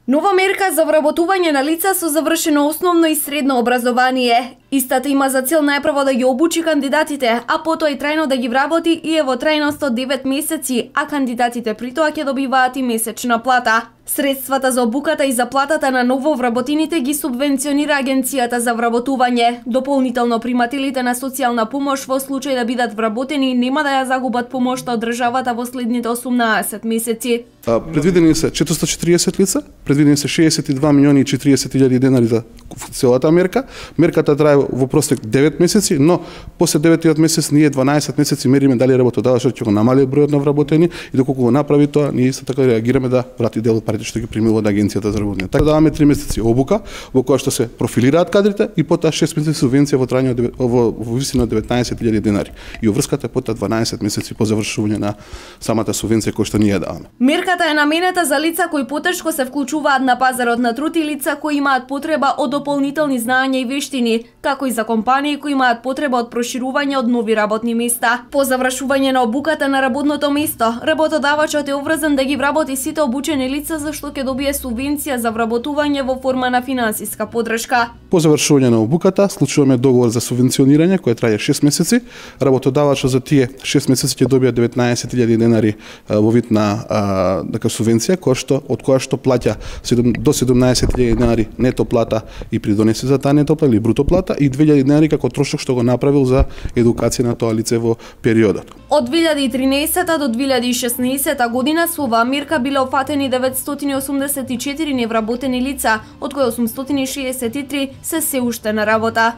Нова мерка за вработување на лица со завршено основно и средно образование. Истата има за цел најпрво да ги обучи кандидатите, а потоа и трајно да ги вработи и е во трајност од 9 месеци, а кандидатите при тоа ќе добиваат и месечна плата. Средствата за обуката и заплатата на нововработените ги субвенционира Агенцијата за вработување. Дополнително примателите на социјална помош во случај да бидат вработени нема да ја загубат помошта од државата во следните 18 месеци. Предвидени се 440 лица, предвидени се 62 милиони и 40 илјади денари за целата мерка. Мерката трае во просек 9 месеци, но после 9-тиот месец ние 12 месеци мериме дали работодавачот ќе го намали бројот на вработени и доколку го направи тоа, ние исто така реагираме да врати дел од парите што ги примува од Агенцијата за работење. Така даваме 3 месеци обука во која што се профилираат кадрите и потоа 6 месеци субвенција во трајање во висина 19.000 денари. И врската е потоа 12 месеци по завршување на самата субвенција која што ние даваме. Мерката е наменета за лица кои потешко се вклучуваат на пазарот на труд и лица кои имаат потреба од дополнителни знаења и вештини, како и за компании кои имаат потреба од проширување од нови работни места. По завршување на обуката на работното место, работодавачот е обврзан да ги вработи сите обучени лица за што ќе добие субвенција за вработување во форма на финансиска поддршка. По завршување на обуката склучуваме договор за субвенционирање кој трае 6 месеци. Работодавачот за тие 6 месеци ќе добие 19.000 денари во вид на субвенција од која што плаќа до 17.000 денари нето плата и придонеси за таа нето плата или бруто плата и 2.000 денари како трошок што го направил за едукација на тоа лице во периодот. Од 2013 до 2016 година со оваа мерка биле опфатени 984 невработени лица, од кои 863 се уште на работа.